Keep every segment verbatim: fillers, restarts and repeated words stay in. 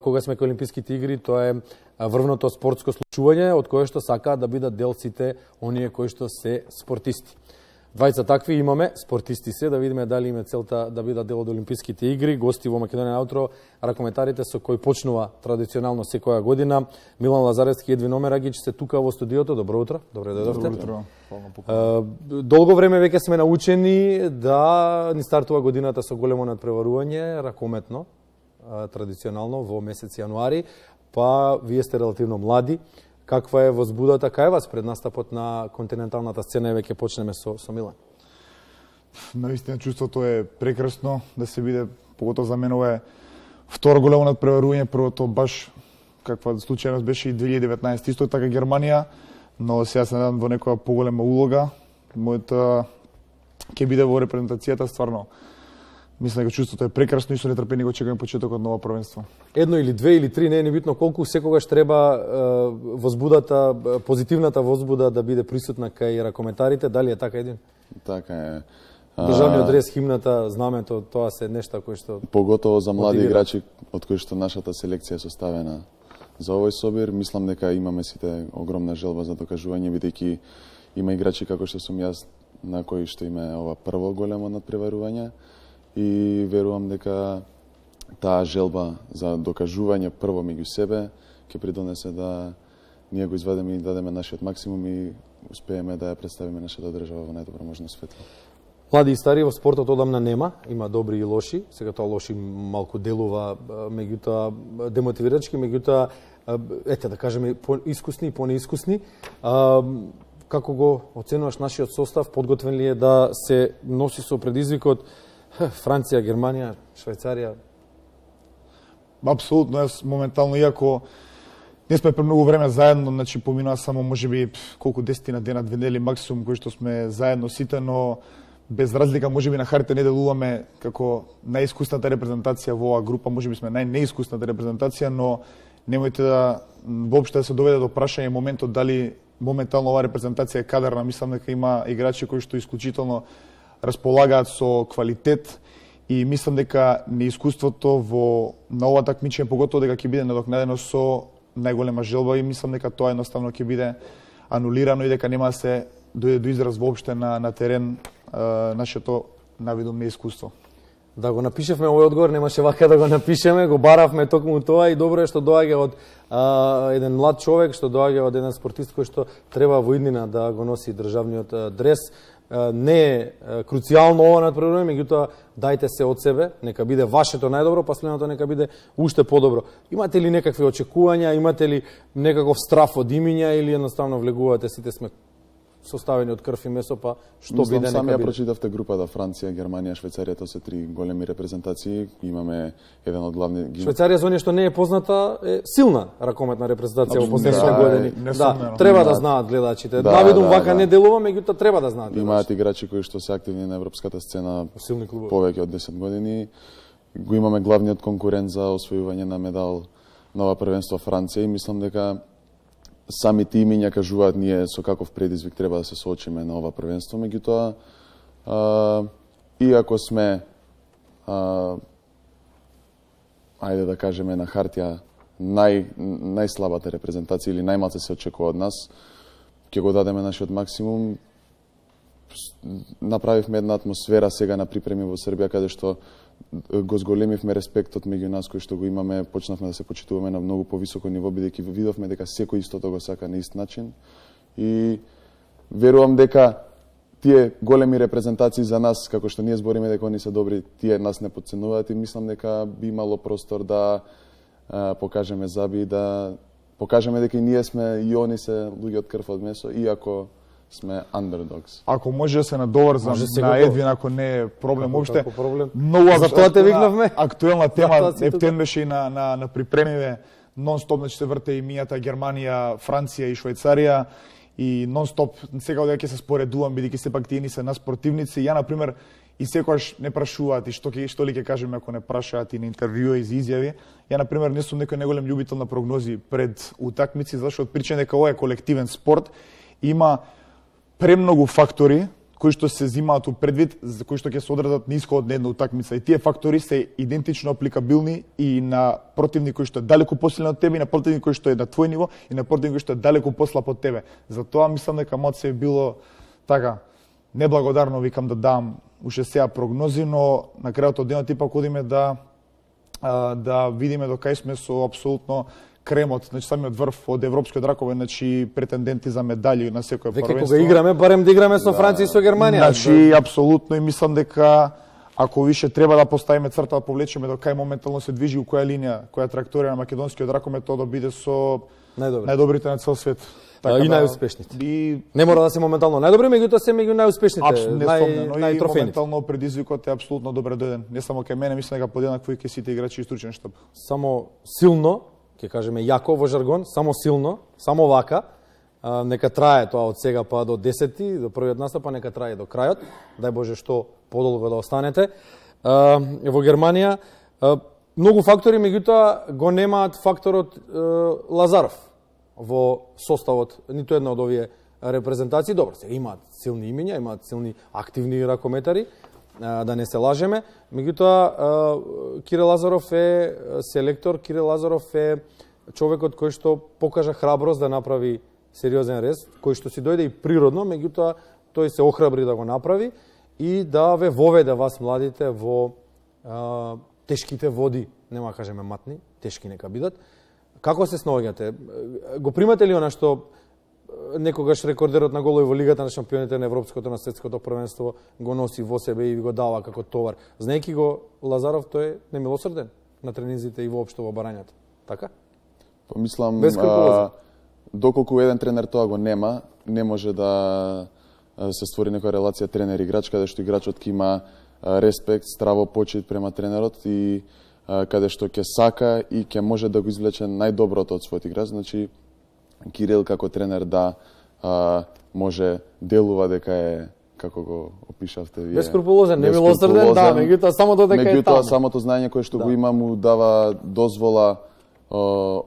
кога сме кај Олимписките игри, тоа е врвното спортско случување од кое што сакаат да бидат дел сите оние кои што се спортисти. Двајца такви имаме, спортисти се, да видиме дали име целта да бидат дел од Олимписките игри. Гости во Македонија на утро, ракометарите со кои почнува традиционално секоја година. Милан Лазаревски и Едвин Омерагич се тука во студиото. Добро утро. Добре дојдовте. Добро утро. Долго време веќе сме научени да ни стартува годината со големо надпреварување, ракометно, традиционално во месец јануари, па вие сте релативно млади. Каква е возбудата кај вас пред настапот на континенталната сцена и веќе почнеме со, со Милан? Наистина чувството е прекрасно да се биде, поготово за мене ова е второ големо надпреварување, првото баш каква случајност беше и две илјади и деветнаесета исто така Германија, но сега се надам во некоја поголема улога. Мојата ќе биде во репрезентацијата, стварно. Мислам дека чувството е прекрасно и со нетрпение го чекаме почетокот на ова првенство. Едно или две или три, не е ни битно колку, секогаш треба е, возбудата, позитивната возбуда да биде присутна кај ракометарите. Дали е така, Един? Така е. Државниот дрес, химната, знамето, тоа се нешта кои што поготово за млади играчи од кои што нашата селекција е составена за овој собир, мислам дека имаме сите огромна желба за докажување, бидејќи има играчи како што сум јас на кои што има ова прво големо надпреварување. И верувам дека таа желба за докажување прво меѓу себе ќе придонесе да ние го извадеме и дадеме нашиот максимум и успееме да ја представиме нашата држава во најдобро можно светло. Млади и стари во спортот одамна нема, има добри и лоши. Сега тоа лоши малку делува, меѓутоа демотивирачки, меѓутоа ете да кажеме поискусни и понеискусни. Како го оценуваш нашиот состав? Подготвен ли е да се носи со предизвикот Франција, Германија, Швајцарија? Апсолутно, јас моментално, иако не сме премногу време заедно, значи поминува само можеби колку десетина дена, две недели максимум кои што сме заедно сите, но без разлика можеби на хартија не делуваме како најискусната репрезентација во оваа група, можеби сме најнеискусната репрезентација, но немојте да воопште да се доведе до прашање моментот дали моментално оваа репрезентација е кадарна. Мислам дека има играчи кои што исклучително располагаат со квалитет и мислам дека неискуството во на ова такмичење поготово дека ќе биде надокнадено со најголема желба и мислам дека тоа едноставно ќе биде анулирано и дека нема да се дојде до израз воопште на на терен а, нашето навидом неискуство. Да го напишевме овој одговор, немаше вака да го напишеме, го баравме токму тоа и добро е што доаѓа од а, еден млад човек, што доаѓа од еден спортист кој што треба во иднина да го носи државниот а, дрес. Не е круцијално ова надпреварување, меѓутоа дајте се од себе, нека биде вашето најдобро, па следното нека биде уште подобро. Имате ли некакви очекувања, имате ли некаков страф од имиња или едноставно влегувате сите сме составени од крв и месо, па што Мислам, биде нека нека биде? биде. Прочитавте групата Франција, Германија, Швајцарија, тоа се три големи репрезентации. Имаме еден од главни... Швајцарија за оние што не е позната е силна ракометна репрезентација во последните да, години. Да, треба да знаат гледачите. Да, Навидум да, вака да. не делува, меѓутоа треба да знаат. Имаат играчи кои што се активни на европската сцена силни клубови повеќе од десет години. Го имаме главниот конкурент за освојување на медал на ова првенство Франција и мислам дека самите имиња кажуваат ние со каков предизвик треба да се соочиме на ова првенство, меѓутоа иако сме а, ајде да кажеме на хартија нај најслабата репрезентација или најмалку се очекува од нас, ќе го дадеме нашиот максимум. Направивме една атмосфера сега на припреми во Србија каде што го зголемивме респектот меѓу нас кој што го имаме, почнавме да се почитуваме на многу повисоко ниво, бидејќи видовме дека секој истото го сака на ист начин и верувам дека тие големи репрезентации за нас, како што ние збориме дека они се добри, тие нас не потценуваат и мислам дека би имало простор да а, покажеме заби, да покажеме дека и ние сме и они се луѓе од крв од месо, иако сме underdogs. Ако може да се надоврзам на Едвин, ако не е проблем уопште. Многу за тоа те викнавме. Актуелна тема Ептен беше и на на на припремиве нон-стоп, значи се врте и мијата Германија, Франција и Швајцарија и нон-стоп сега дека ќе се споредувам бидејќи сепак тие ни се нас противници. Ја на пример и секогаш не прашуваат и што ќе што ли ќе кажеме ако не прашаат и на интервјуи и изјави. Ја на пример не сум некој неголем љубител на прогнози пред утакмици, зашто од причина дека ова е колективен спорт, има премногу фактори кои што се земаат у предвид, за кои што ќе се одредат на исходот на една утакмица. И тие фактори се идентично апликабилни и на противник кој што е далеку посилен од тебе, и на противник кој што е на твој ниво, и на противник кој што е далеку послаб од тебе. Затоа мислам дека мод се било така неблагодарно, викам, да дам уште сега прогнози, но на крајот од денот ипак одиме да да видиме до кај сме со апсолутно кремот, значи самиот врв од европскиот ракове, значи претенденти за медали на секој првенство. првенство. Веќе кога играме, барем да играме со Франција и со Германија. Значи апсолутно, и мислам дека ако више треба да поставиме црта, да повлечеме до кај моментално се движи, у која линија, која траекторија на македонскиот ракомет, тоа да биде со најдобри. најдобрите на цел свет. Така и да, најуспешните. И не мора да се моментално најдобри, меѓутоа се меѓу најуспешните, нај, нај моментално предизвикот е апсолутно добре дојден. Не само кај мене, мислам дека подеднакво и кај сите играчи и стручен штаб. Само силно, ќе кажеме јако во жаргон, само силно, само вака, а, нека трае тоа од сега па до десети, до првиот настап, па нека трае до крајот. Дај Боже што подолго да останете. А, во Германија а, многу фактори, меѓутоа го немаат факторот а, Лазаров во составот ниту една од овие репрезентации. Добро, сега имаат силни имиња, имаат силни активни ракометари, да не се лажеме. Меѓутоа, Кире Лазаров е селектор, Кире Лазаров е човекот кој што покажа храброст да направи сериозен рез, кој што си дојде и природно, меѓутоа тој се охрабри да го направи и да ве воведе вас младите во а, тешките води, нема кажеме матни, тешки нека бидат. Како се снаоѓате? Го примате ли она што некогаш рекордерот на голови во Лигата на шампионите на Европското, на Светското првенство го носи во себе и го дава како товар? Знаеки го Лазаров, тој е немилосрден на тренинзите и воопшто во барањето. Така? Помислам, а, доколку еден тренер тоа го нема, не може да се створи некоја релација тренер-играч, каде што играчот ќе има респект, здраво почит према тренерот и каде што ќе сака и ќе може да го извлече најдоброто од својот играч. Значи, Кирил како тренер да а, може делува дека е, како го опишавте вие, бескрупулозен, немилосрден, да, меѓутоа само додека е таму. Меѓутоа самото знаење кое што да. го има му дава дозвола а,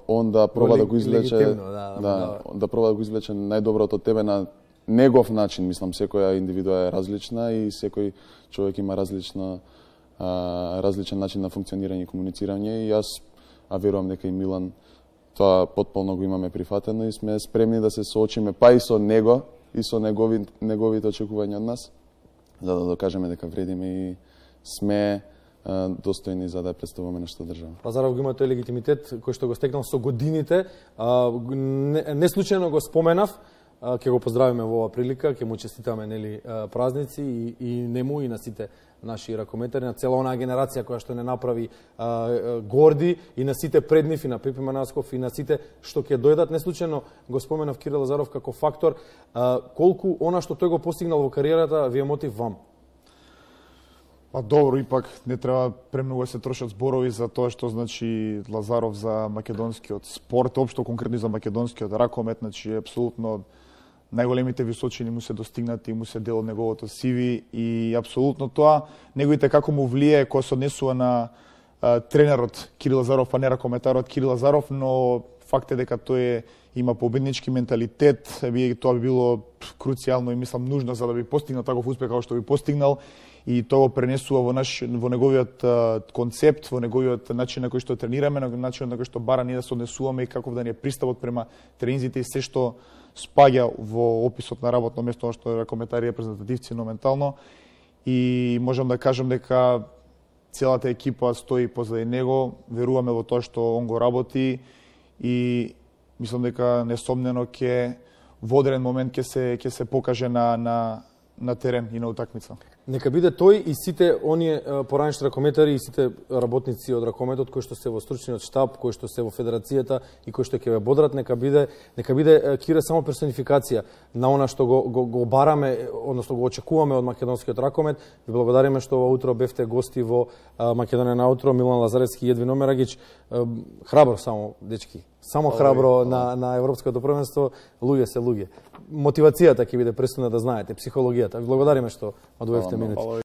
он да проба да го извлече, да, да, да, да проба да го извлече најдоброто од тебе на негов начин. Мислам, секоја индивидуа е различна и секој човек има различна а, различен начин на функционирање и комуницирање, и јас а верувам дека и Милан тоа потполно го имаме прифатено и сме спремни да се соочиме па и со него и со негови, неговите очекувања од нас, за да докажеме дека вредиме и сме а, достојни за да представуваме нашата држава. Лазаров го има тој легитимитет кој што го стекнал со годините. А, не, не случајно го споменав, ќе го поздравиме во оваа прилика, ќе му честитаме нели празници и, и нему и на сите наши ракометари, на цела онаа генерација која што не направи а, горди, и на сите пред нив, и на Пипи Манасков, и на сите што ќе дојдат. Не случајно го споменав Кире Лазаров како фактор. А, колку она што тој го постигнал во кариерата ви е мотив вам? Па добро, ипак не треба премногу да се трошат зборови за тоа што значи Лазаров за македонскиот спорт, општо конкретно за македонскиот ракомет, значи апсолутно најголемите височини му се достигнати, му се дел од неговото сиви, и апсолутно тоа неговите како му влие кога се однесува на а, тренерот Кире Лазаров, а не ракометарот Кире Лазаров, но факт е дека тој има победнички менталитет, би тоа би било круцијално и мислам нужно за да би постигнал таков успех како што би постигнал, и тоа го пренесува во наш во неговиот а, концепт, во неговиот начин на кој што тренираме, на начин на кој што бара ние да се однесуваме и каков да ни е приставот према тренинзите и се што спаѓа во описот на работно место што е ракометари репрезентативци моментално, и можам да кажам дека целата екипа стои позади него, веруваме во тоа што он го работи и мислам дека несомнено ќе во одреден момент ќе се ќе се покаже на на на терен и на утакмица. Нека биде тој и сите оние поранешни ракометари и сите работници од ракометот кои што се во стручниот штаб, кои што се во федерацијата и кои што ќе ве бодрат, нека биде нека биде Кире само персонификација на она што го, го, го бараме, односно го очекуваме од македонскиот ракомет. Ви благодариме што ова утро бевте гости во Македонија на утро. Милан Лазаревски и Едвин Омерагич. Храбро само, дечки. Само храбро на, на Европското првенство. Луѓе се луѓе. Мотивацијата ќе биде пресудна, да знаете, психологијата. Ви благодариме што одвоевте минути.